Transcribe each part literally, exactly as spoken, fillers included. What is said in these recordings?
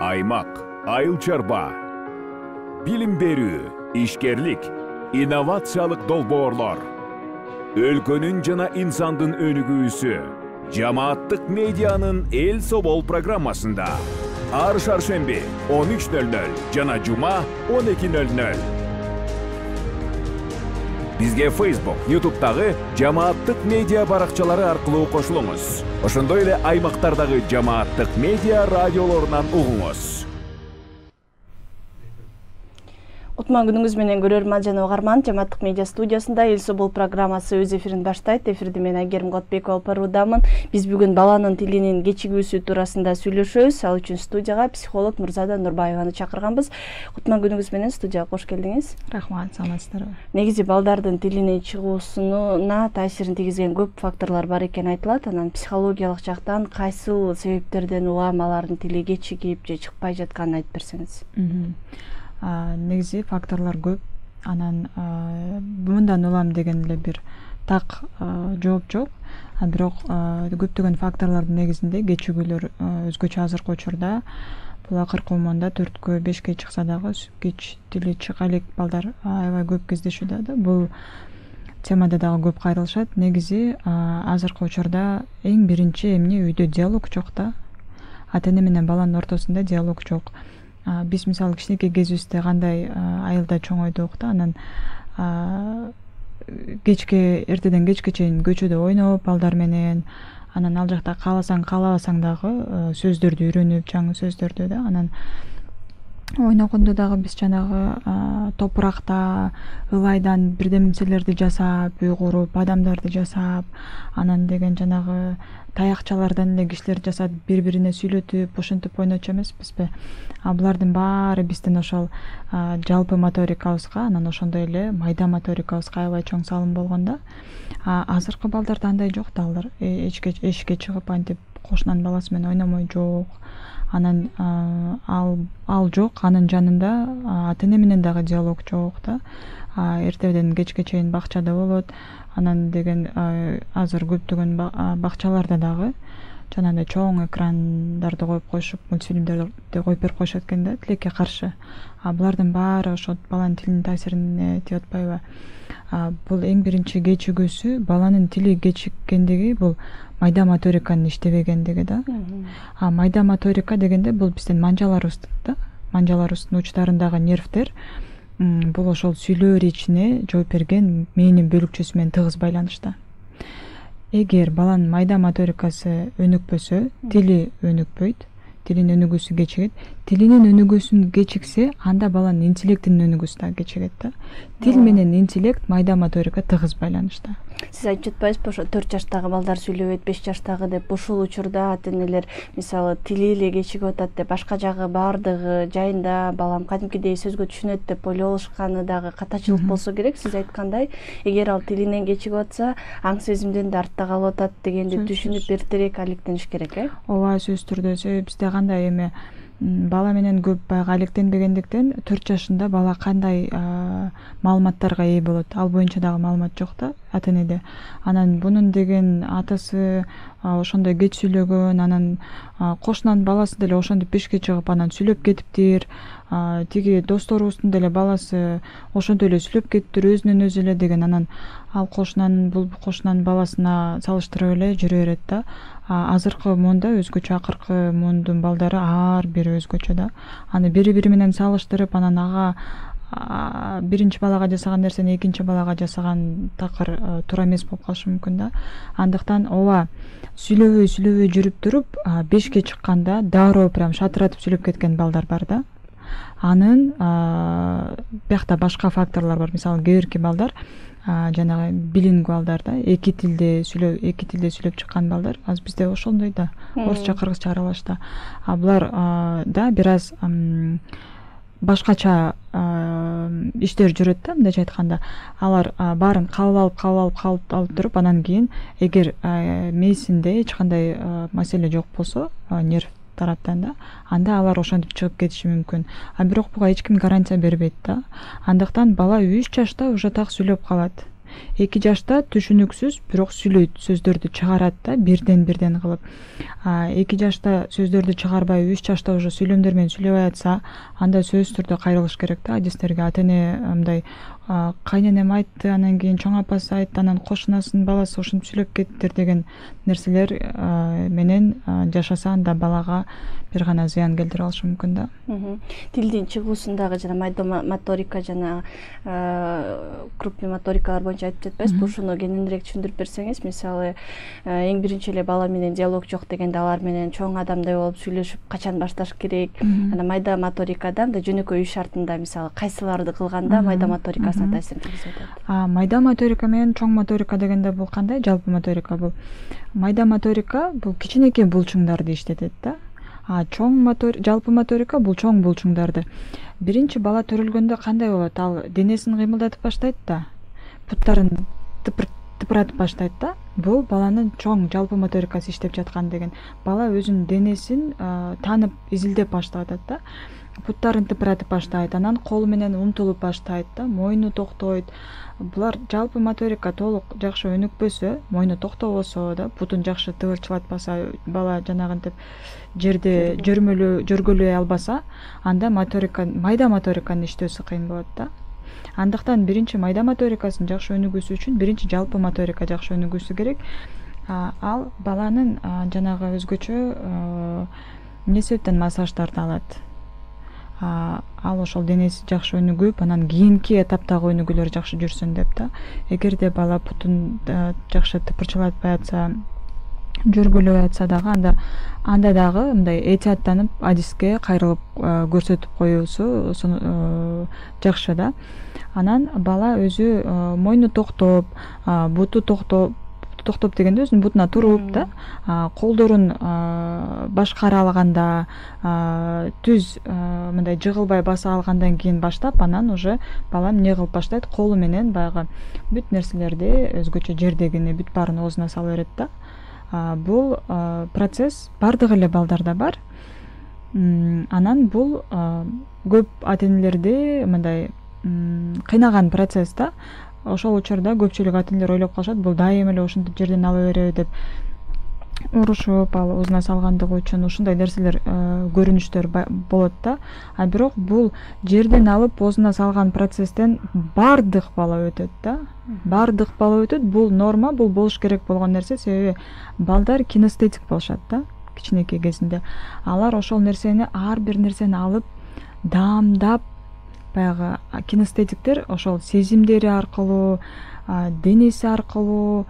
аймак, айыл чарба, билим берүү, ишкерлик, инновациялык долбоорлор, өлкөнүн жана инсандын өнүгүүсү жамааттык медианын Эл Собол программасында ар шаршемби он үч ноль ноль жана жума он эки ноль ноль. Бизге Facebook, YouTube'дагы жамааттык медиа баракчалары аркылуу кошулуңуз. Ошондой эле аймактардагы жамааттык медиа радиолорунан угуңуз. Кутман күнүңүз менен көрөрман жана угарман, жамааттык медиа студиясында Эл Собол программасы өз эфирин баштайт. Эфирди мен Айгерим Котбекова алып баруудамын. Биз бүгүн баланын тилинин кечигүүсү туурасында сүйлөшөбүз. Ал үчүн студияга психолог Нурзада Нурбаеваны чакырганбыз. Кутман күнүңүз менен студияга кош келдиңиз. Рахмат, саламатсыздарбы. Негизи балдардын тилинин чыгуусуна таасирин тийгизген көп факторлор бар экени айтылат. Анан психологиялык жактан кайсыл себептерден улам алардын тили кечигип же чыкпай жатканын айтып берсеңиз. Негизи факторлор көп. Анан мындан улам деген эле бир так жооп жок. А бирок көптөгөн факторлордун негизинде кечигүүлөр өзгөчө азыркы учурда бул акыркы умонда төрткө бешке чыкса дагы кеч тили чыга элек балдар аябай көп кездешүүдө да. Бул темада дагы көп кайрылышат. Негизи азыркы учурда эң биринчи эмне үйдө диалог жок да. Ата эне менен баланын ортосунда диалог жок. Биз мисалы кичинекей кезибизде кандай айылда чоңойдук да, анан кечке эртеден кечке чейин көчөдө ойноп балдар менен, анан ал жакта кааласаң каалабасаң дагы сөздөрдү үйрөнүп, жаңы сөздөрдү да, анан ойногондо дагы биз жанагы топуракта ылайдан бирдемселерди жасап, үй куруп, адамдарды жасап, анан деген жанагы таякчалардан эле кишилер жасап, бири-бирине сүйлөтүп, ошентип ойночу эмеспизби? А булардын баары биздин ошол жалпы моторикабызга, анан ошондой эле майда моторикабызга аябай чоң салым болгон да. Азыркы балдарда андай жок да, алар эшикке эшикке чыгып антип кошунанын баласы менен ойномой жок. Анан ал ал жок, анын жанында ата эне менен дагы диалог жок да. Эртеден кечке чейин бакчада болот. Анан деген азыр көптөгөн бакчаларда дагы жанагындай чоң экрандарды коюп коюшуп, мультфильмдерди коюп берип коюшат экен да, тилекке каршы. А булардын баары ошо баланын тилинин таасирине тийип атпайбы? Бул эң биринчи кечигүүсү, баланын тили кечиккендиги бул майда моториканын иштебегендиги да. А майда моторика дегенде бул биздин манжаларыбыз да. Манжаларыбыздын учтарындагы нервдер бул ошол сүйлөө речине жооп берген мээнин бөлүкчөсү менен тыгыз байланышта. Эгер баланын майда моторикасы өнүкпөсө, тили өнүкпөйт, тилинин өнүгүүсү кечигет. Тилинин өнүгүүсүн кечиксе, анда баланын интеллектинин өнүгүүсү да кечигет да. Тил менен интеллект, майда моторика тыгыз байланышта. Сиз айтып жатпайсызбы, ошо төрт жаштагы балдар сүйлөбөйт, беш жаштагы деп, ушул учурда ата энелер мисалы тили эле кечигип атат деп, башка жагы баардыгы жайында балам кадимкидей сөзгө түшүнөт деп ойлоп алышканы дагы катачылык болсо керек. Сиз айткандай, эгер ал тилинен кечигип атса, аң сезимден да артта калып атат дегенди түшүнүп эртерээк алектениш керек, э? Ооба, сөзсүз түрдө. Себеби бизде кандай эме бала менен көп баягы алектенбегендиктен төрт жашында бала кандай маалыматтарга ээ болот, ал боюнча дагы маалымат жок да ата энеде. Анан бунун деген атасы ошондой кеч сүйлөгөн, анан кошунанын баласы деле ошентип бешке чыгып анан сүйлөп кетиптир. Тиги досторубуздун деле баласы ошентип эле сүйлөп кетиптир өзүнөн өзү эле деген, анан ал кошунанын бул кошунанын баласына салыштырып эле жүрө берет да. Азыркы муунда өзгөчө, акыркы муундун балдары ар бири өзгөчө да. Аны бири-бири менен салыштырып, анан ага биринчи балага жасаган нерсени экинчи балага жасаган такыр туура эмес болуп калышы мүмкүн да. Андыктан ооба, сүйлөбөй сүйлөбөй жүрүп туруп бешке чыкканда дароо прям шатыратып сүйлөп кеткен балдар бар да. Анын биякта башка факторлор бар. Мисалы, кээ бирки балдар жанагы билингвалдар да, эки тилде сүйлөп, эки тилде сүйлөп чыккан балдар. Азыр бизде ошондой да, орусча, кыргызча аралаш да. А булар да бир аз башкача иштер жүрөт да, мындайча айтканда. Алар баарын кабыл алып, кабыл алып, кабыл алып туруп, анан кийин эгер мээсинде эч кандай маселе жок болсо, нерв тараптан да, анда алар ошентип чыгып кетиши мүмкүн. А бирок буга эч ким гарантия бербейт да. Андыктан бала үч жашта уже так сүйлөп калат. эки жашта түшүнүксүз бирок сүйлөйт, сөздөрдү чыгарат да бирден бирден кылып. эки жашта сөздөрдү чыгарбай үч жашта уже сүйлөмдөр менен сүйлөбөй атса, анда сөзсүз түрдө кайрылыш керек да адистерге. Ата эне мындай кайненем айтты, анан кийин чоң апасы айтты, анан кошунасынын баласы ушинтип сүйлөп кеттир деген нерселер менен жашаса анда балага бир гана зыян келтире алышы мүмкүн да. Тилдин чыгуусундагы жана майда моторика жана крупный моторикалар боюнча айтып жатпайсызбы? Ушуну кененирээк түшүндүрүп берсеңиз, мисалы эң биринчи эле бала менен диалог жок дегенде алар менен чоң адамдай болуп сүйлөшүп качан башташ керек? Анан майда моторикада мындай жөнөкөй үй шартында мисалы кайсыларды кылганда майда моторикасына таасирин тийгизип атат? Майда моторика менен чоң моторика дегенде бул кандай? Жалпы моторика бул. Майда моторика бул кичинекей булчуңдарды иштетет да. А чоң мотор, жалпы моторика бул чоң булчуңдарды. Биринчи бала төрөлгөндө кандай болот? Ал денесин кыймылдатып баштайт да, буттарын тыпыратып баштайт да. Бул баланын чоң жалпы моторикасы иштеп жаткан деген. Бала өзүнүн денесин таанып, изилдеп баштап атат да. Буттарын тыпыратып баштайт, анан колу менен умтулуп баштайт да, мойну токтойт. Булар жалпы моторика толук жакшы өнүкпөсө, мойну токтобосо да, бутун жакшы тыбырчылатпаса, бала жанагынтип жерде жөрмөлө жөргөлөй албаса, анда моторика, майда моториканын иштөөсү кыйын болот да. Андыктан биринчи майда моторикасынын жакшы өнүгүүсү үчүн биринчи жалпы моторика жакшы өнүгүүсү керек. Ал баланын жанагы өзгөчө эмне себептен массаждарды алат. Ал ошол денеси жакшы өнүгүп, анан кийинки этаптагы өнүгүүлөр жакшы жүрсүн деп да. Эгерде бала бутун жакшы тыпырчылатпай атса, жөргөлөй атса дагы, анда анда дагы мындай этияттанып адиске кайрылып көрсөтүп коюусу жакшы да. Анан бала өзү мойну токтоп, буту токтоп, токтоп дегенде өзүнүн бутуна туруп да, колдорун башкара алганда, түз мындай жыгылбай баса алгандан кийин баштап, анан уже бала эмне кылып баштайт? Колу менен баягы бүт нерселерди өзгөчө жердегини бүт баарын оозуна сала берет да. Бул процесс бардык эле балдарда бар. Анан бул көп ата энелерди мындай кыйнаган процесс да. Ошол учурда көпчүлүк ата энелер ойлоп калышат, бул дайыма эле ушинтип жерден ала береби деп урушуп, ал оозуна салгандыгы үчүн ушундай нерселер көрүнүштөр болот да. А бирок бул жерден алып оозуна салган процесстен бардык бала өтөт да. Бардык бала өтөт. Бул норма, бул болуш керек болгон нерсе, себеби балдар кинестетик болушат да, кичинекей кезинде. Алар ошол нерсени, ар бир нерсени алып, даамдап, баягы кинестетиктер ошол сезимдери аркылуу, денеси аркылуу,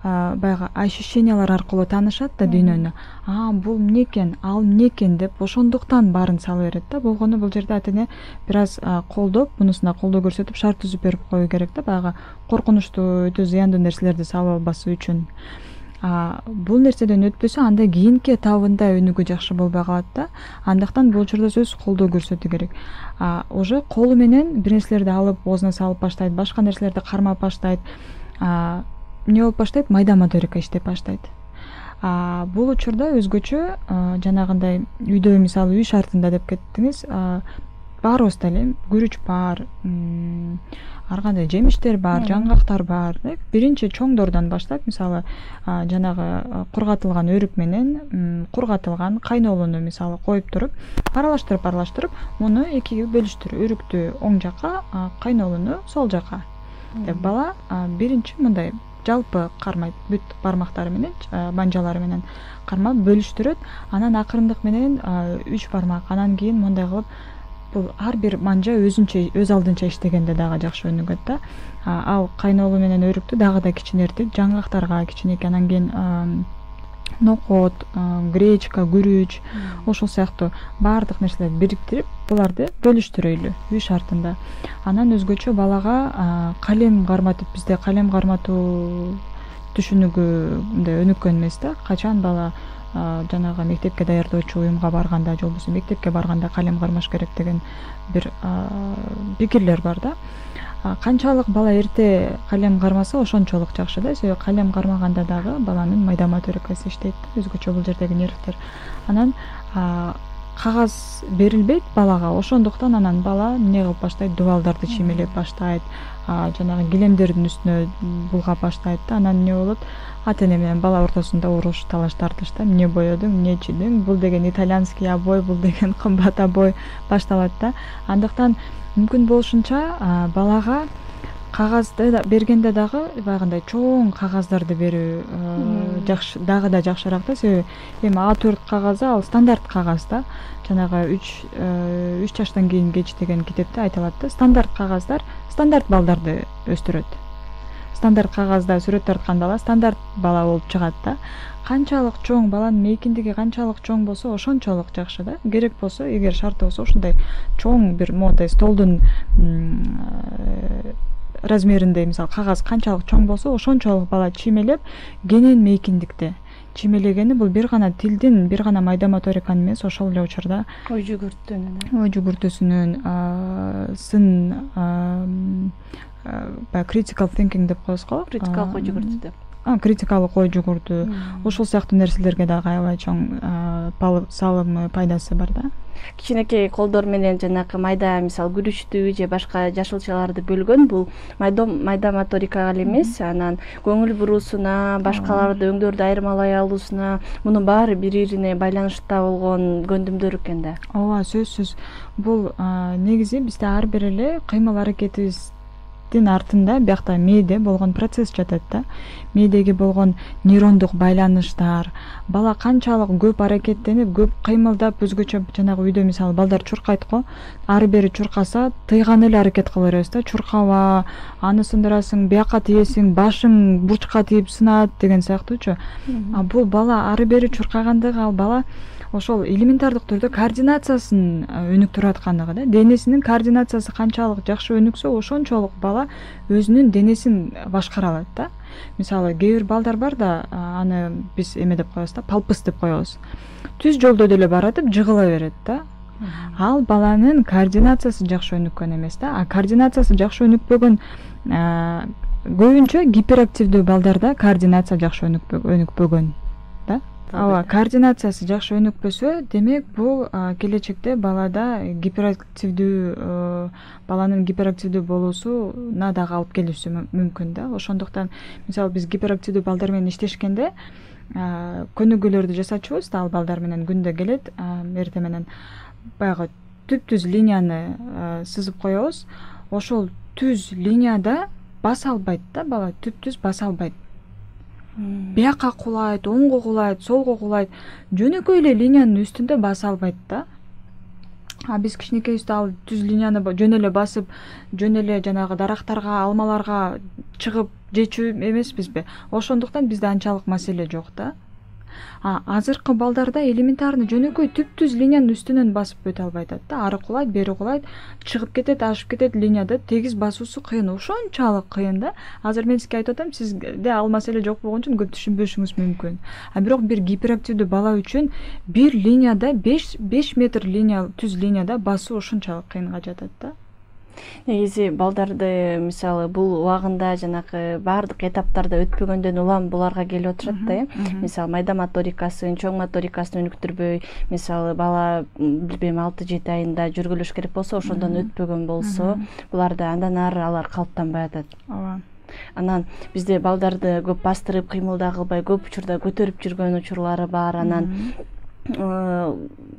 баягы ощущениялар аркылуу таанышат да дүйнөнү. А бул эмне экен, ал эмне экен деп ошондуктан баарын сала берет да. Болгону бул жерде ата эне бир аз колдоп, мунусуна колдоо көрсөтүп, шарт түзүп берип коюу керек да, баягы коркунучтуу, өтө зыяндуу нерселерди салып албасы үчүн. Бул нерседен өтпөсө, анда кийинки этабында өнүгүү жакшы болбой калат да. Андыктан бул учурда сөзсүз колдоо көрсөтүү керек. Уже колу менен бир нерселерди алып оозуна салып баштайт, башка нерселерди кармап баштайт. Эмне болуп баштайт? Майда моторика иштеп баштайт. Бул учурда өзгөчө жанагындай үйдө, мисалы үй шартында деп кеттиңиз, баарыбызда эле күрүч бар, ар кандай жемиштер бар, жаңгактар бар. Биринчи чоңдордон баштап, мисалы жанагы кургатылган өрүк менен кургатылган кайнолуну мисалы коюп туруп, аралаштырып аралаштырып, муну экиге бөлүштүр. Өрүктү оң жакка, кайнолуну сол жакка деп бала биринчи мындай жалпы кармайт, бүт бармактары менен, манжалары менен кармап бөлүштүрөт. Анан акырындык менен үч бармак, анан кийин мындай кылып, бул ар бир манжа өзүнчө, өз алдынча иштегенде дагы жакшы өнүгөт да. Ал кайнолу менен өрүктү дагы да кичинертип, жаңгактарга кичинекей, анан кийин нокот, гречка, күрүч, ошол сыяктуу баардык нерселерди бириктирип, буларды бөлүштүрөйлү үй шартында. Анан өзгөчө балага калем карматып, бизде калем карматуу түшүнүгү мындай өнүккөн эмес да. Качан бала жанагы мектепке даярдоочу уюмга барганда, же болбосо мектепке барганда калем кармаш керек деген бир пикирлер бар да. Канчалык бала эрте калем кармаса, ошончолук жакшы да. Себеби калем кармаганда дагы баланын майда моторикасы иштейт да, өзгөчө бул жердеги нервтер. Анан кагаз берилбейт балага, ошондуктан анан бала эмне кылып баштайт, дубалдарды чиймелеп баштайт, жанагы килемдердин үстүнө булгап баштайт да. Анан эмне болот, ата эне менен бала ортосунда уруш, талаш тартыш да. Эмне боёдуң, эмне чийдиң, бул деген итальянский обой, бул деген кымбат обой башталат да. Андыктан мүмкүн болушунча балага кагазды бергенде дагы баягындай чоң кагаздарды берүү жакшы, дагы да жакшыраак да. Себеби эми А төрт кагазы ал стандарт кагаз да. Жанагы үч үч жаштан кийин кеч деген китепте айтылат да. Стандарт кагаздар стандарт балдарды өстүрөт. Стандарт кагазда сүрөт тарткан бала стандарт бала болуп чыгат да. Канчалык чоң, баланын мейкиндиги канчалык чоң болсо, ошончолук жакшы да. Керек болсо, эгер шарты болсо, ушундай чоң бир мондай столдун размериндей, мисалы, кагаз канчалык чоң болсо, ошончолук бала чиймелеп, кенен мейкиндикте чиймелегени бул бир гана тилдин, бир гана майда моториканын эмес, ошол эле учурда ой жүгүртүүнүн, ой жүгүртүүсүнүн, сын баягы critical thinking деп коебуз го. Критикалык ой жүгүртүү деп. Критикалык ой жүгүртүү, ошол сыяктуу нерселерге дагы аябай чоң салымы, пайдасы бар да. Кичинекей колдор менен жанакы майда, мисалы, күрүчтүү же башка жашылчаларды бөлгөн бул майда майда моторикага эле эмес, анан көңүл буруусуна, башкаларды өңдөрдү айырмалай алуусуна, мунун баары бири-бирине байланышта болгон көндүмдөр экен да. Ооба, сөзсүз. Бул негизи бизде ар бир эле кыймыл аракетибиз артында биякта мээде болгон процесс жатат да. Мээдеги болгон нейрондук байланыштар, бала канчалык көп аракеттенип, көп кыймылдап, өзгөчө жанагы үйдө мисалы балдар чуркайт го, ары бери чуркаса тыйган эле аракет кыла беребиз да. Чуркаба, аны сындырасың, бияка тийесиң, башың бурчка тийип сынат деген сыяктуучу. А бул бала ары бери чуркагандыгы, ал бала ошол элементардык түрдө координациясын өнүктүрүп аткандыгы да. Денесинин координациясы канчалык жакшы өнүксө, ошончолук бала өзүнүн денесин башкара алат да. Мисалы, кээ бир балдар бар да, аны биз эме деп коебуз да, палпыс деп коебуз. Түз жолдо деле баратып жыгыла берет да. Ал баланын координациясы жакшы өнүккөн эмес да. А координациясы жакшы өнүкпөгөн, көбүнчө гиперактивдүү балдарда координация жакшы өнүкпөгөн да. Ооба, координациясы жакшы өнүкпөсө, демек бул келечекте балада гиперактивдүү, баланын гиперактивдүү болуусуна дагы алып келиши мүмкүн да. Ошондуктан мисалы биз гиперактивдүү балдар менен иштешкенде көнүгүүлөрдү жасачубуз да, ал балдар менен күндө келет, эртең менен баягы түп-түз линияны сызып коебуз. Ошол түз линияда баса албайт да, бала түп-түз баса албайт. Бияка кулайт, оңго кулайт, солго кулайт, жөнөкөй эле линиянын үстүндө баса албайт да. А биз кичинекейибизде ал түз линияны жөн эле басып, жөн эле жанагы дарактарга, алмаларга чыгып жечү эмеспизби? Ошондуктан бизде анчалык маселе жок да. А азыркы балдарда элементарный жөнөкөй түп-түз линиянын үстүнөн басып өтө албайт да. Ары кулайт, бери кулайт, чыгып кетет, ашып кетет, линияда тегиз басуусу кыйын, ошончалык кыйын да. Азыр мен сизге айтып атам, сизде ал маселе жок болгон үчүн көп түшүнбөшүңүз мүмкүн. А бирок бир гиперактивдүү бала үчүн бир линияда беш метр линия, түз линияда басуу ошончалык кыйынга жатат да. Негизи балдарды мисалы бул убагында жанагы баардык этаптарда өтпөгөндөн улам буларга келип отурат да, э. Мисалы майда моторикасын, чоң моторикасын өнүктүрбөй, мисалы бала билбейм алты жети айында жүргүлөш керек болсо, ошондон өтпөгөн болсо, буларда андан ары алар калыптанбай атат. Ооба. Анан бизде балдарды көп бастырып, кыймылда кылбай, көп учурда көтөрүп жүргөн учурлары бар. Анан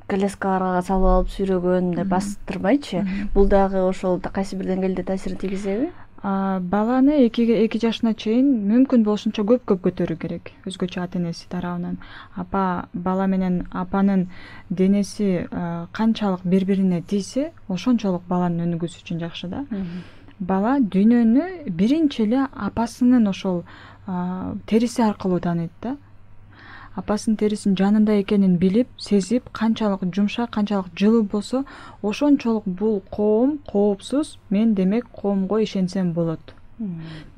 коляскаларга салып алып сүйрөгөн, бастырбайчы. Бул дагы ошол кайсы бир деңгээлде таасирин тийгизеби? Баланы эки жашына чейин мүмкүн болушунча көп-көп көтөрүү керек, өзгөчө ата энеси тарабынан. Апа бала менен апанын денеси канчалык бири-бирине тийсе, ошончолук баланын өнүгүүсү үчүн жакшы да. Бала дүйнөнү биринчи эле апасынын ошол териси аркылуу тааныйт да. Апасынын терисинин жанында экенин билип, сезип, канчалык жумшак, канчалык жылуу болсо, ошончолук бул коом коопсуз, мен демек коомго ишенсем болот.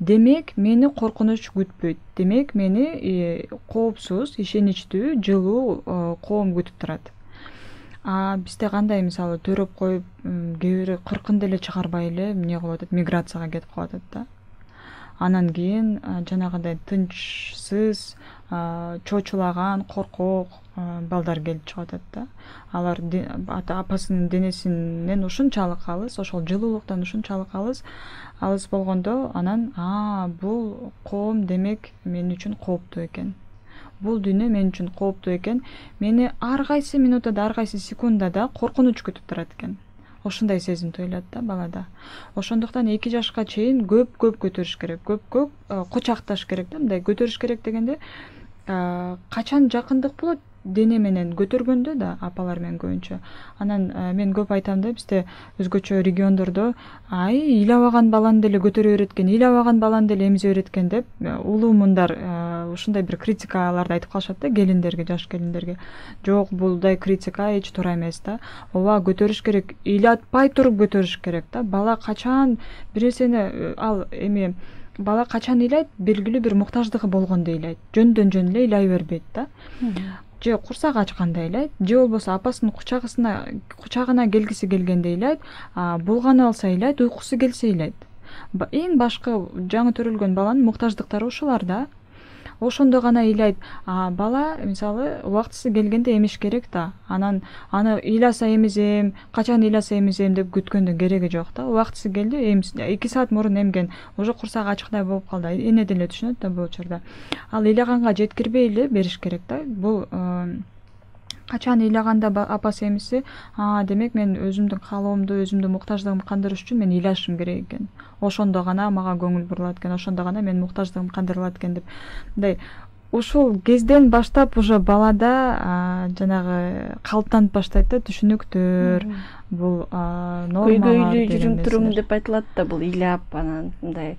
Демек мени коркунуч күтпөйт. Демек мени коопсуз, ишеничтүү, жылуу коом күтүп турат. А бизде кандай мисалы төрөп коюп, кээ бири кыркын деле чыгарбай эле эмне кылып атат, миграцияга кетип калып атат да. анан кийин жанагындай тынчсыз, чочулаган, коркок балдар келип чыгып атат да. Алар апасынын денесинен ушунчалык алыс, ошол жылуулуктан ушунчалык алыс, алыс болгондо анан а бул коом демек мен үчүн кооптуу экен. Бул дүйнө мен үчүн кооптуу экен. Мени ар кайсы минутада, ар кайсы секундада коркунуч күтүп турат экен. Ошондой сезим туюлат да балада. Ошондуктан эки жашка чейин көп-көп көтөрүш керек. Көп-көп кучакташ керек да. Мындай көтөрүш керек дегенде качан жакындык болот дене менен көтөргөндө да апалар менен көбүнчө. Анан мен көп айтам да, бизде өзгөчө региондордо ай ыйлабаган баланы деле көтөрө береткен, ыйлабаган баланы деле эмизе береткен деп улуу мындар ушундай бир критикаларды айтып калышат да келиндерге, жаш келиндерге. Жок, булдай критика эч туура эмес да. Ооба, көтөрүш керек, ыйлатпай туруп көтөрүш керек да. Бала качан бир нерсени ал эми бала качан ыйлайт, белгилүү бир муктаждыгы болгондо ыйлайт. Жөндөн жөн эле ыйлай бербейт да. Же курсак ачканда ыйлайт, же болбосо апасынын кучагысына кучагына келгиси келгенде ыйлайт, булганы алса ыйлайт, уйкусу келсе ыйлайт. Эң башкы жаңы төрөлгөн баланын муктаждыктары ушулар да. Ошондо гана ыйлайт. Бала мисалы убактысы келгенде эмиш керек да. Анан аны ыйласа эмизем, качан ыйласа эмизем деп күткөндүн кереги жок да. Убактысы келди, эки саат мурун эмген, уже курсак ачыктай болуп калды. Эне деле түшүнөт да бул учурда. Ал ыйлаганга жеткирбей эле бериш керек да. Бул качан ыйлаганда апасы эмиси, а демек мен өзүмдүн каалоомду, өзүмдүн муктаждыгымды кандырыш үчүн мен ыйлашым керек экен. Ошондо гана мага көңүл бурулат экен, ошондо гана менин муктаждыгым кандырылат экен деп. Мындай ушул кезден баштап уже балада жанагы калыптанып баштайт да түшүнүктөр, бул нормалар. Көйгөйлүү жүрүм турум деп айтылат да, бул ыйлап анан мындай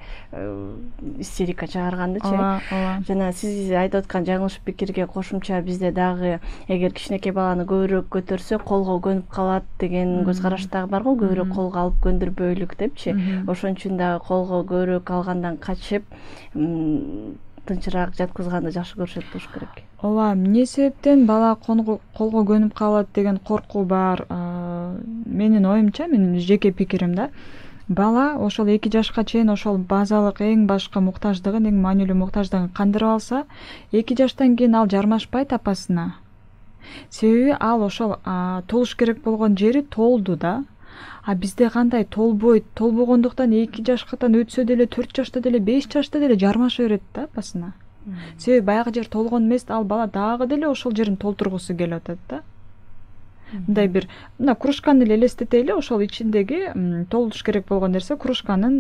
истерика чыгаргандычы. Жана сиз айтып аткан жаңылыш пикирге кошумча бизде дагы эгер кичинекей баланы көбүрөөк көтөрсө колго көнүп калат деген көз караш дагы бар го, көбүрөөк колго алып көндүрбөйлүк депчи. Ошон үчүн дагы колго көбүрөөк алгандан качып тынчыраак жаткызганды жакшы көрүшөт болуш керек. Ооба, эмне себептен бала колго көнүп калат деген коркуу бар. Менин оюмча, менин жеке пикирим да. Бала ошол эки жашка чейин ошол базалык эң башкы муктаждыгын, эң маанилүү муктаждыгын кандырып алса, эки жаштан кийин ал жармашпайт апасына. Себеби ал ошол толуш керек болгон жери толду да. А бизде кандай толбойт, толбогондуктан эки жашкадан өтсө деле, төрт жашта деле, беш жашта деле жармаша берет да апасына. Себеби баягы жер толгон эмес, ал бала дагы деле ошол жерин толтургусу келип атат да. Мындай бир мына кружканы эле элестетели, ошол ичиндеги толуш керек болгон нерсе кружканын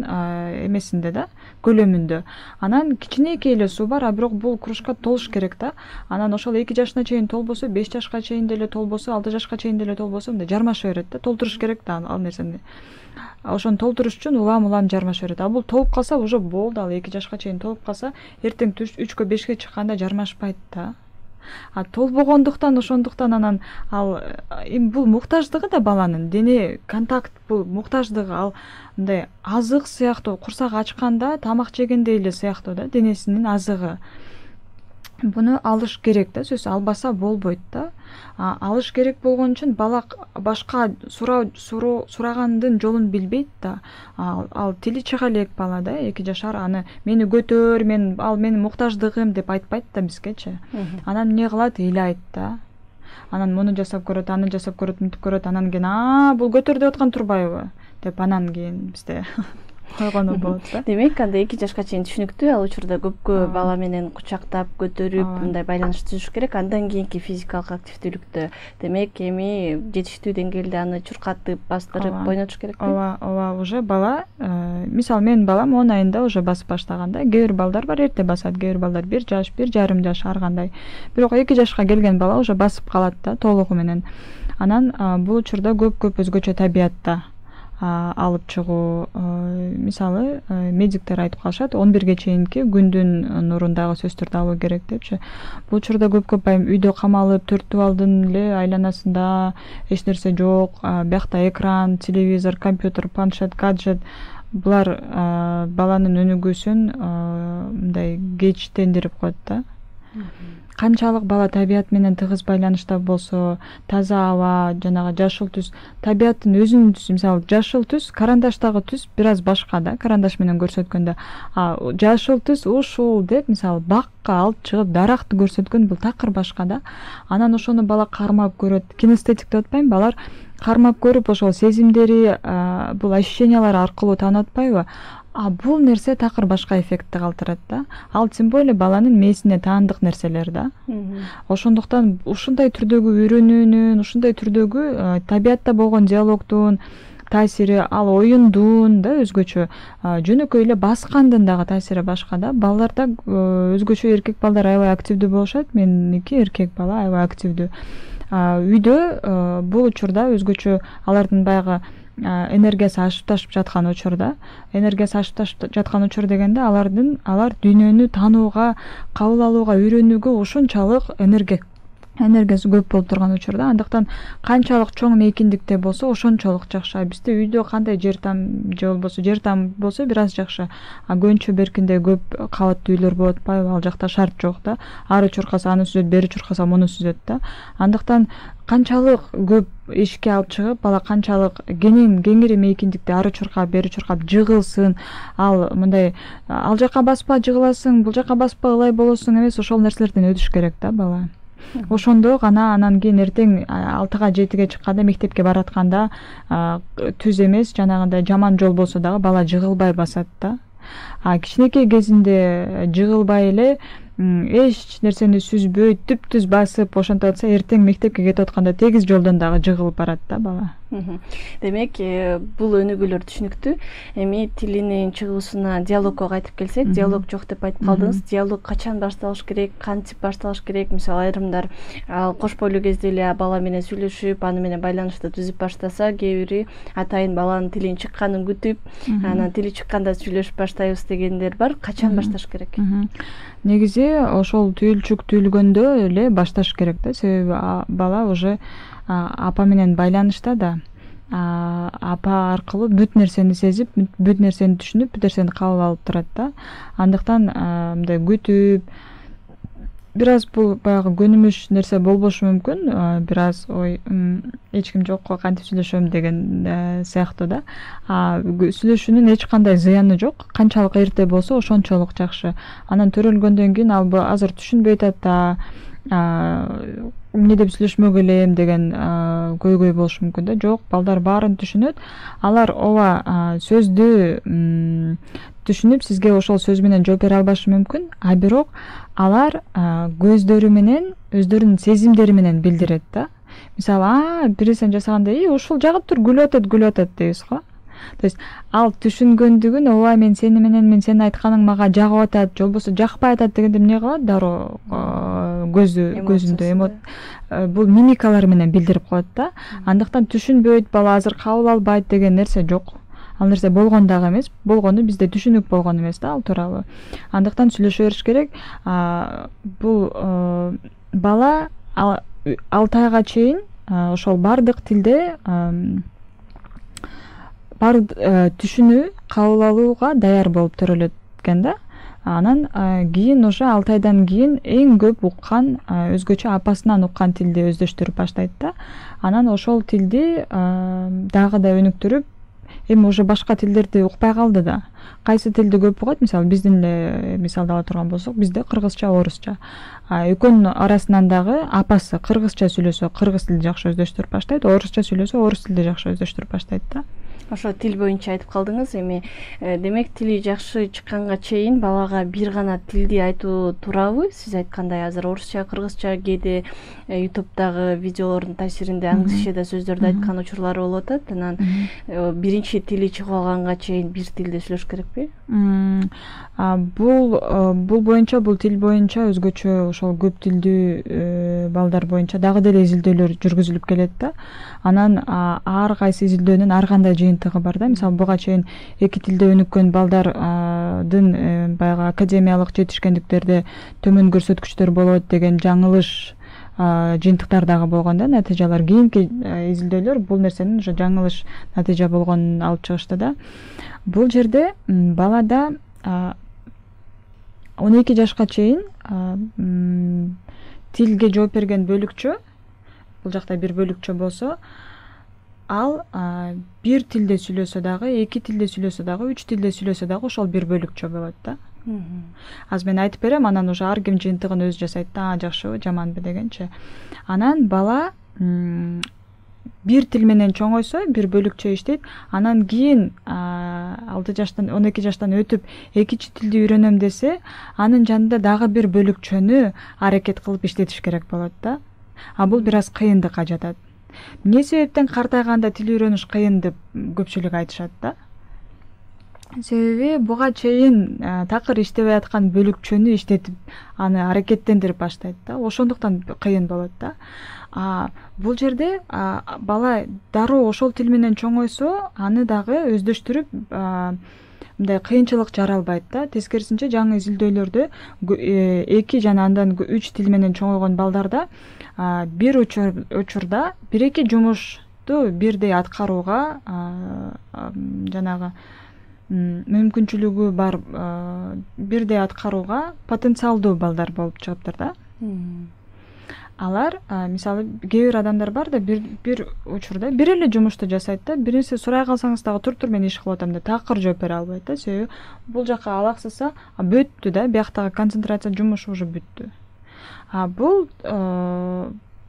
эмесинде да, көлөмүндө. Анан кичинекей эле суу бар, а бирок бул кружка толуш керек да. Анан ошол эки жашына чейин толбосо, беш жашка чейин деле толбосо, алты жашка чейин деле толбосо, мындай жармаша берет да, толтуруш керек да ал нерсени. Ошону толтуруш үчүн улам-улам жармаша берет. А бул толуп калса уже болду, ал эки жашка чейин толуп калса, эртең үчкө бешке чыкканда жармашпайт да. А толбогондуктан ошондуктан анан ал эми бул муктаждыгы да баланын, дене контакт бул муктаждыгы, ал мындай азык сыяктуу, курсак ачканда тамак жегендей эле сыяктуу да, денесинин азыгы. Буну алыш керек да, сөзсүз албаса болбойт да. Алыш керек болгон үчүн бала башка суроо сурагандын жолун билбейт да. Ал тили чыга элек бала да, эки жашар, аны мени көтөр, мен ал менин муктаждыгым деп айтпайт да бизгечи. Анан эмне кылат, ыйлайт да. Анан муну жасап көрөт, аны жасап көрөт, мынтип көрөт, анан кийин а бул көтөр деп аткан турбайбы деп анан кийин бизде койгону болот да. Демек, анда эки жашка чейин түшүнүктүү, ал учурда көпкө бала менен кучактап, көтөрүп, мындай байланыш түзүш керек. Андан кийинки физикалык активдүүлүктө, демек, эми жетиштүү деңгээлде аны чуркатып, бастырып ойнотуш керек. Ооба, ооба, уже бала, мисалы менин балам он айында уже басып баштаганда, кээ бир балдар бар эрте басат, кээ бир балдар бир жаш, бир жарым жаш ар кандай. Бирок эки жашка келген бала уже басып калат да, толугу менен. Анан бул учурда көп-көп өзгөчө табиятта алып чыгуу, мисалы медиктер айтып калышат, он бирге чейинки күндүн нурундагы сөздөрдү алуу керек депчи. Бул учурда көп-көп айым үйдө камалып, төрт дубалдын эле айланасында эч нерсе жок, биякта экран, телевизор, компьютер, планшет, гаджет, булар баланын өнүгүүсүн мындай кечтендирип коет да. канчалык бала табият менен тыгыз байланышта болсо, таза аба, жанагы жашыл түс, табияттын өзүнүн түсү, мисалы жашыл түс, карандаштагы түс бир аз башка да, карандаш менен көрсөткөндө. А жашыл түс ушул деп, мисалы бакка алып чыгып даракты көрсөткөн бул такыр башка да. Анан ошону бала кармап көрөт. Кинестетик деп атпайбы, балар кармап көрүп ошол сезимдери, бул ощущениялар аркылуу таанып атпайбы? А бул нерсе такыр башка эффектти калтырат да. Ал тем более баланын мээсине таандык нерселер да. Ошондуктан ушундай түрдөгү үйрөнүүнүн, ушундай түрдөгү табиятта болгон диалогдун таасири, ал оюндун да өзгөчө, жөнөкөй эле баскандын дагы таасири башка да. Балдарда өзгөчө эркек балдар аябай активдүү болушат. Меники эркек бала аябай активдүү. Үйдө бул учурда өзгөчө алардын баягы энергиясы ашып ташып жаткан учурда, энергиясы ашып ташып жаткан учур дегенде алардын алар дүйнөнү таанууга, кабыл алууга, үйрөнүүгө ошончалык энергия энергиясы көп болуп турган учурда, андыктан канчалык чоң мейкиндикте болсо ошончолук жакшы. Бизде үйдө кандай жер там же болбосо жер там болсо бир аз жакшы. А Көнчө Беркинде көп кабаттуу үйлөр болуп атпайбы? Ал жакта шарт жок да. Ары чуркаса аны сүзөт, бери чуркаса муну сүзөт да. Андыктан канчалык көп эшикке алып чыгып, бала канчалык кенен кеңири мейкиндикте ары чуркап, бери чуркап жыгылсын, ал мындай ал жака баспа жыгыласың, бул жака баспа ылай болосуң эмес, ошол нерселерден өтүш керек да бала. Ошондо гана анан кийин эртең алтыга жетиге чыкканда, мектепке баратканда түз эмес, жанагындай жаман жол болсо дагы бала жыгылбай басат да. А кичинекей кезинде жыгылбай эле эч нерсени сүзбөй түп-түз басып ошентип атса, эртең мектепке кетип атканда тегиз жолдон дагы жыгылып барат да бала. Демек, бул өнүгүүлөр түшүнүктүү. Эми тилинин чыгуусуна, диалогко кайтып келсек, диалог жок деп айтып калдыңыз. Диалог качан башталыш керек, кантип башталыш керек? Мисалы, айрымдар кош бойлуу кезде эле бала менен сүйлөшүп, аны менен байланышты түзүп баштаса, кээ бири атайын баланын тилин чыкканын күтүп, анан тили чыкканда сүйлөшүп баштайбыз дегендер бар. Качан башташ керек? Негизи ошол түйүлчүк түйүлгөндө эле башташ керек да, себеби бала уже апа менен байланышта да. Апа аркылуу бүт нерсени сезип, бүт нерсени түшүнүп, бүт нерсени кабыл алып турат да. Андыктан мындай күтүп, бир аз бул баягы көнүмүш нерсе болбошу мүмкүн, бир аз ой, эч ким жокко кантип сүйлөшөм деген сыяктуу да. Сүйлөшүүнүн эч кандай зыяны жок. Канчалык эрте болсо ошончолук жакшы. Анан төрөлгөндөн кийин ал азыр түшүнбөй атат да, эмне деп сүйлөшмөк элем деген көйгөй болушу мүмкүн да. Жок, балдар баарын түшүнөт. Алар ооба сөздү түшүнүп, сизге ошол сөз менен жооп бере албашы мүмкүн, а бирок алар көздөрү менен, өздөрүнүн сезимдери менен билдирет да. Мисалы, а бир нерсени жасаганда, "И, ушул жагып тур, күлүп атат, күлүп атат" дейбиз го. То есть ал түшүнгөндүгүн, ооба мен сени менен, мен сенин айтканың мага жагып атат, же болбосо жакпай атат дегенде эмне кылат? Дароо көзү көзүндө бул мимикалар менен билдирип коет да. Андыктан түшүнбөйт, бала азыр кабыл албайт деген нерсе жок. Ал нерсе болгон дагы эмес, болгону бизде түшүнүк болгон эмес да ал тууралуу. Андыктан сүйлөшө бериш керек. Бул бала алты айга чейин ошол бардык тилде бар түшүнүү, кабыл алууга даяр болуп төрөлөт экен да. Анан кийин уже алты айдан кийин эң көп уккан, өзгөчө апасынан уккан тилди өздөштүрүп баштайт да. Анан ошол тилди дагы да өнүктүрүп, эми уже башка тилдерди укпай калды да. Кайсы тилди көп угат? Мисалы, биздин эле мисалды ала турган болсок, бизде кыргызча, орусча. Экөөнүн арасынан дагы апасы кыргызча сүйлөсө, кыргыз тилди жакшы өздөштүрүп баштайт, орусча сүйлөсө, орус тилди жакшы өздөштүрүп баштайт да. Ошо тил боюнча айтып калдыңыз. Эми демек тили жакшы чыкканга чейин балага бир гана тилди айтуу туурабы? Сиз айткандай азыр орусча, кыргызча, кээде ютубтагы видеолордун таасиринде англисчеде сөздөрдү айткан учурлары болуп атат. Анан биринчи тили чыгып алганга чейин бир тилде сүйлөш керекпи? Бул бул боюнча, бул тил боюнча өзгөчө ошол көп тилдүү балдар боюнча дагы деле изилдөөлөр жүргүзүлүп келет да. Анан ар кайсы изилдөөнүн ар кандай жыйынтыгы бар да. Мисалы, буга чейин эки тилде өнүккөн балдардын баягы академиялык жетишкендиктерде төмөн көрсөткүчтөр болот деген жаңылыш жыйынтыктар дагы болгон да, натыйжалар. Кийинки изилдөөлөр бул нерсенин ошо жаңылыш натыйжа болгонун алып чыгышты да. Бул жерде балада он эки жашка чейин тилге жооп берген бөлүкчө, бул жакта бир бөлүкчө болсо, ал бир тилде сүйлөсө дагы, эки тилде сүйлөсө дагы, үч тилде сүйлөсө дагы ошол бир бөлүкчө болот да. Азыр мен айтып берем, анан уже ар ким жыйынтыгын өзү жасайт да, а жакшыбы, жаманбы дегенчи. Анан бала бир тил менен чоңойсо, бир бөлүкчө иштейт. Анан кийин алты жаштан, он эки жаштан өтүп экинчи тилди үйрөнөм десе, анын жанында дагы бир бөлүкчөнү аракет кылып иштетиш керек болот да. А бул бир аз кыйындыкка жатат. Эмне себептен картайганда тил үйрөнүш кыйын деп көпчүлүк айтышат да. Себеби буга чейин такыр иштебей аткан бөлүкчөнү иштетип, аны аракеттендирип баштайт да. Ошондуктан кыйын болот да. А бул жерде бала дароо ошол тил менен чоңойсо, аны дагы өздөштүрүп мындай кыйынчылык жаралбайт да. Тескерисинче жаңы изилдөөлөрдө эки жана андан үч тил менен чоңойгон балдарда бир учурда бир эки жумушту бирдей аткарууга жанагы мүмкүнчүлүгү бар, бирдей аткарууга потенциалдуу балдар болуп чыгыптыр да. Алар мисалы кээ бир адамдар бар да, бир бир учурда бир эле жумушту жасайт да, бир нерсе сурай калсаңыз дагы туруп туруп мен иш кылып атам деп такыр жооп бере албайт да. Себеби бул жакка алаксыса бүттү да, бияктагы концентрация жумушу уже бүттү. А бул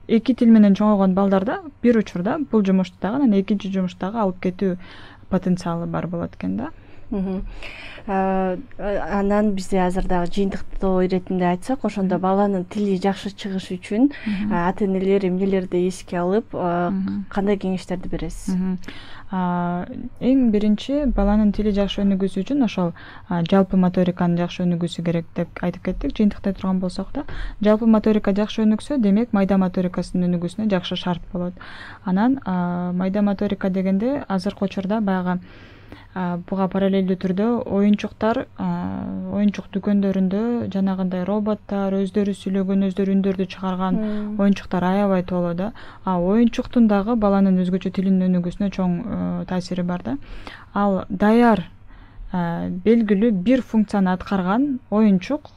эки тил менен чоңойгон балдарда бир учурда бул жумушту дагы, анан экинчи жумушту дагы алып кетүү потенциалы бар болот экен да. Анан бизде азыр дагы жыйынтыктоо иретинде айтсак, ошондо баланын тили жакшы чыгыш үчүн ата энелер эмнелерди эске алып, кандай кеңештерди бересиз? Эң биринчи баланын тили жакшы өнүгүүсү үчүн ошол жалпы моториканын жакшы өнүгүүсү керек деп айтып кеттик, жыйынтыктай турган болсок да. Жалпы моторика жакшы өнүксө, демек майда моторикасынын өнүгүүсүнө жакшы шарт болот. Анан майда моторика дегенде азыркы учурда баягы буга параллелдүү түрдө оюнчуктар, оюнчук дүкөндөрүндө жанагындай роботтар, өздөрү сүйлөгөн, өздөрү үндөрдү чыгарган оюнчуктар аябай толо да. А оюнчуктун дагы баланын өзгөчө тилинин өнүгүүсүнө чоң таасири бар да. Ал даяр белгилүү бир функцияны аткарган оюнчук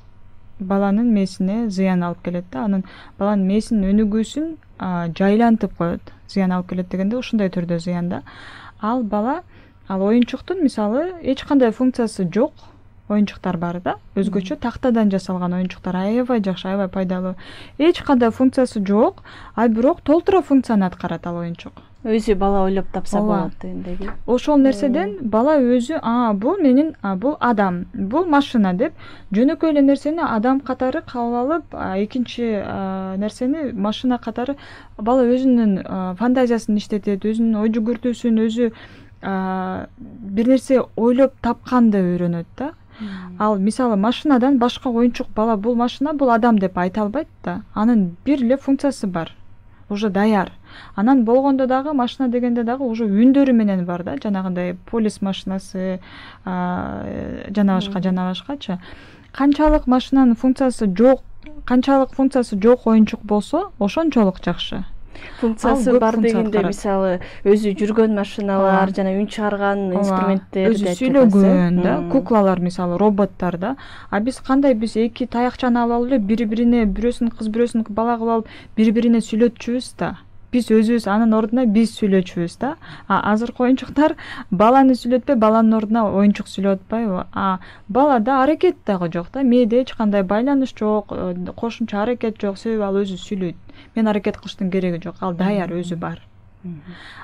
баланын мээсине зыян алып келет да. Анын баланын мээсинин өнүгүүсүн жайлантып коет. Зыян алып келет дегенде ушундай түрдө зыян да. Ал бала Ал оюнчуктун мисалы эч кандай функциясы жок оюнчуктар бар да. Өзгөчө тактадан жасалган оюнчуктар аябай жакшы, аябай пайдалуу. Эч кандай функциясы жок, а бирок толтура функцияны аткарат ал оюнчук. Өзү бала ойлоп тапса болот дегендеги. Ошол нерседен бала өзү, а бул менин, а бул адам, бул машина деп жөнөкөй эле нерсени адам катары кабыл алып, экинчи нерсени машина катары бала өзүнүн фантазиясын иштетет, өзүнүн ой жүгүртүүсүн өзү бир нерсе ойлоп тапканды үйрөнөт да. Ал мисалы машинадан башка оюнчук бала бул машина, бул адам деп айта албайт да. Анын бир эле функциясы бар. Уже даяр. Анан болгондо дагы машина дегенде дагы уже үндөрү менен бар да, жанагындай полис машинасы, жана башка жана башкачы. Канчалык машинанын функциясы жок, канчалык функциясы жок оюнчук болсо, ошончолук жакшы. Функциясы бар дегенде мисалы өзү жүргөн машиналар жана үн чыгарган инструменттер, өзү сүйлөгөн да, куклалар мисалы, роботтар да. А биз кандай биз эки таякчаны алып алып эле бири-бирине, бирөөсүн кыз бирөөсүн бала кылып алып бири-бирине сүйлөтчүбүз да. Биз өзүбүз анын ордуна биз сүйлөчүбүз да. А азыркы оюнчуктар баланы сүйлөтпөй, баланын ордуна оюнчук сүйлөп атпайбы? А балада аракет дагы жок да. Мээде эч кандай байланыш жок, кошумча аракет жок, себеби ал өзү сүйлөйт. Мен аракет кылыштын кереги жок, ал даяр өзү бар.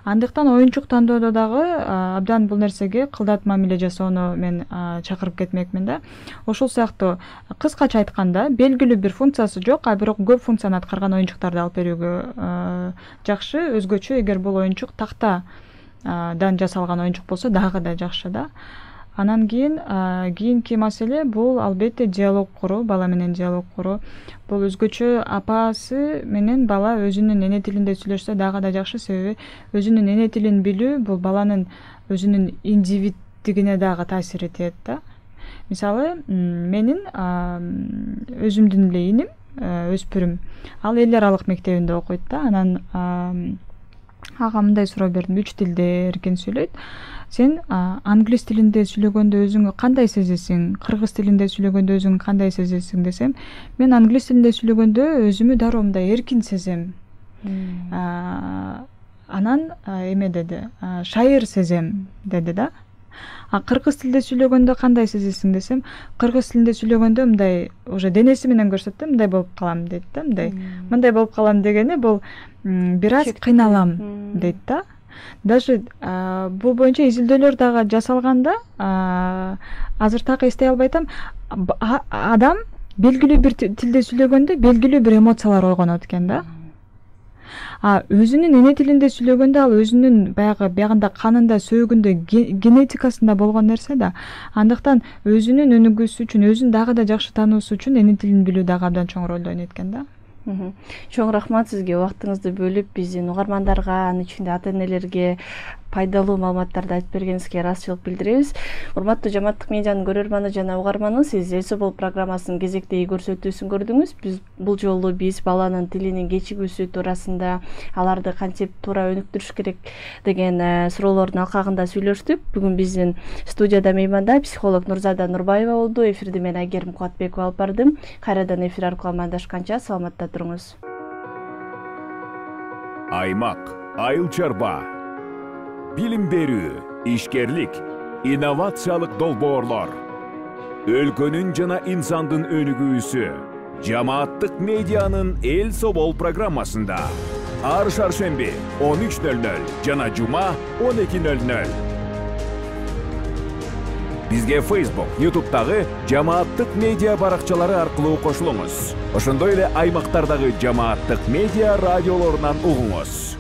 Андыктан оюнчук тандоодо дагы абдан бул нерсеге кылдат мамиле жасоону мен чакырып кетмекмин да. Ошол сыяктуу кыскача айтканда, белгилүү бир функциясы жок, а бирок көп функцияны аткарган оюнчуктарды алып берүүгө жакшы. Өзгөчө эгер бул оюнчук тактадан жасалган оюнчук болсо дагы да жакшы да. Анан кийин кийинки маселе бул албетте диалог куруу, бала менен диалог куруу. Бул өзгөчө апасы менен бала өзүнүн эне тилинде сүйлөшсө дагы да жакшы, себеби өзүнүн эне тилин билүү бул баланын өзүнүн индивиддигине дагы таасир этет да. Мисалы, менин өзүмдүн эле иним, өспүрүм, ал эл аралык мектебинде окуйт да. Анан ага мындай суроо бердим: үч тилде эркин сүйлөйт. Сен англис тилинде сүйлөгөндө өзүңү кандай сезесиң? Кыргыз тилинде сүйлөгөндө өзүңү кандай сезесиң десем, мен англис тилинде сүйлөгөндө өзүмү дароо мындай эркин сезем. Анан эме деди, шайыр сезем деди да. А кыргыз тилде сүйлөгөндө кандай сезесиң десем, кыргыз тилинде сүйлөгөндө мындай уже денеси менен көрсөтөт да, мындай болуп калам дейт да, мындай. Мындай болуп калам дегени бул бир аз кыйналам дейт да. Даже бул боюнча изилдөөлөр дагы жасалганда, азыр так эстей албайтам, адам белгилүү бир тилде сүйлөгөндө белгилүү бир эмоциялар ойгонот экен да. А өзүнүн эне тилинде сүйлөгөндө ал өзүнүн баягы биягында канында, сөөгүндө, генетикасында болгон нерсе да. Андыктан өзүнүн өнүгүүсү үчүн, өзүн дагы да жакшы таануусу үчүн эне тилин билүү дагы абдан чоң ролду ойнойт экен да. Чоң рахмат сизге, убактыңызды бөлүп биздин угармандарга, анын ичинде ата-энелерге пайдалуу маалыматтарды айтып бергениңизге ыраазычылык билдиребиз. Урматтуу Жамааттык медианын көрөрманы жана угарманы, сиз Эсо бол программасынын кезектеги көрсөтүүсүн көрдүңүз. Биз бул жолу биз баланын тилинин кечигүүсү туурасында, аларды кантип туура өнүктүрүш керек деген суроолордун алкагында сүйлөштүк. Бүгүн биздин студияда мейманда психолог Нурзада Нурбаева болду. Эфирди мен Айгерим Кубатбекова алып бардым. Кайрадан эфир аркылуу амандашканча саламатта туруңуз. Аймак, айыл чарба, билим берүү, ишкерлик, инновациялык долбоорлор, өлкөнүн жана инсандын өнүгүүсү Жамааттык медианын Эл Собол программасында ар шаршемби он үч нөл нөл жана жума он эки нөл нөл. Бизге Facebook, YouTube'дагы Жамааттык медиа баракчалары аркылуу кошулуңуз. Ошондой эле аймактардагы Жамааттык медиа радиолорунан угуңуз.